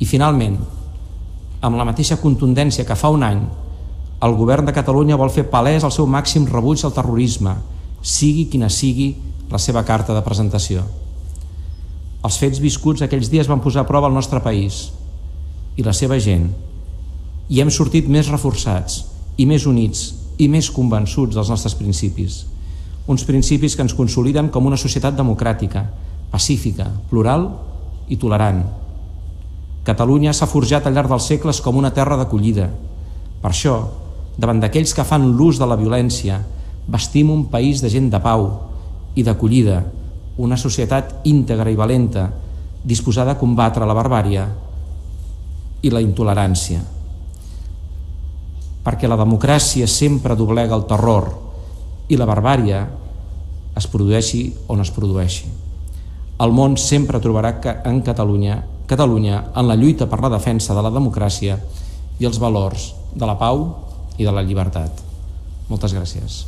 I finalment, amb la mateixa contundència que fa un any, el govern de Catalunya vol fer palès el seu màxim rebuig al terrorisme, sigui quina sigui la seva carta de presentació. Els fets viscuts aquells dies van posar a prova el nostre país i la seva gent, i hem sortit més reforçats i més units i més convençuts dels nostres principis. Uns principis que ens consoliden com una societat democràtica, pacífica, plural i tolerant. Catalunya s'ha forjat al llarg dels segles com una terra d'acollida. Per això, davant d'aquells que fan l'ús de la violència, bastim un país de gent de pau i d'acollida, una societat íntegra i valenta, disposada a combatre la barbàrie i la intolerància. Perquè la democràcia sempre doblega el terror i la barbàrie es produeixi on es produeixi. El món sempre trobarà en Catalunya en la lluita per la defensa de la democràcia i els valors de la pau i de la llibertat. Moltes gràcies.